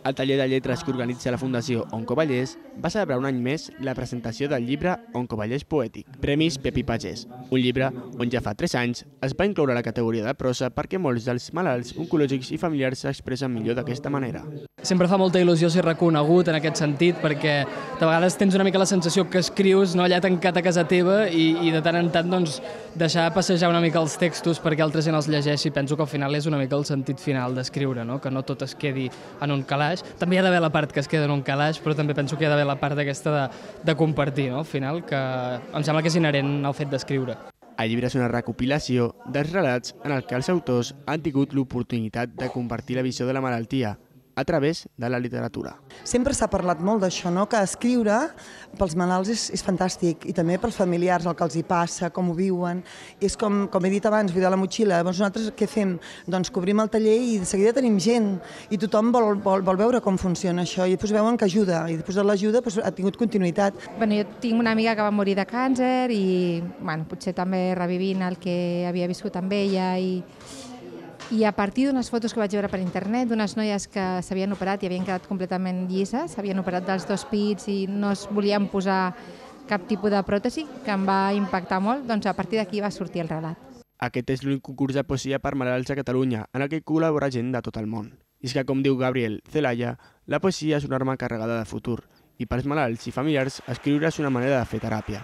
El taller de lletres que organitza la Fundació Oncovallès va celebrar un any més la presentació del llibre Oncovallès Poètic, Premis Pepi Pagès, un llibre on ja fa 3 anys es va incloure la categoria de prosa perquè molts dels malalts oncològics i familiars s'expressen millor d'aquesta manera. Sempre fa molta il·lusió ser reconegut en aquest sentit perquè de vegades tens una mica la sensació que escrius allà tancat a casa teva i de tant en tant deixar passejar una mica els textos perquè altra gent els llegeixi. Penso que al final és una mica el sentit final d'escriure, que no tot es quedi en un calaix. També hi ha d'haver la part que es queda en un calaix, però també penso que hi ha d'haver la part aquesta de compartir, al final, que em sembla que és inherent al fet d'escriure. El llibre és una recopilació dels relats en el que els autors han tingut l'oportunitat de compartir la visió de la malaltia a través de la literatura. Sempre s'ha parlat molt d'això, que escriure pels malalts és fantàstic i també pels familiars, el que els hi passa, com ho viuen. És com he dit abans, buidar la motxilla. Llavors nosaltres què fem? Doncs cobrim el taller i de seguida tenim gent i tothom vol veure com funciona això i després veuen que ajuda i després de l'ajuda ha tingut continuïtat. Jo tinc una amiga que va morir de càncer i potser també revivint el que havia viscut amb ella i a partir d'unes fotos que vaig veure per internet d'unes noies que s'havien operat i havien quedat completament llises, s'havien operat dels 2 pits i no es volien posar cap tipus de pròtesi, que em va impactar molt, doncs a partir d'aquí va sortir el relat. Aquest és l'únic concurs de poesia per malalts a Catalunya, en el que col·labora gent de tot el món. I és que, com diu Gabriel Zelaya, la poesia és una arma carregada de futur, i pels malalts i familiars escriure és una manera de fer teràpia.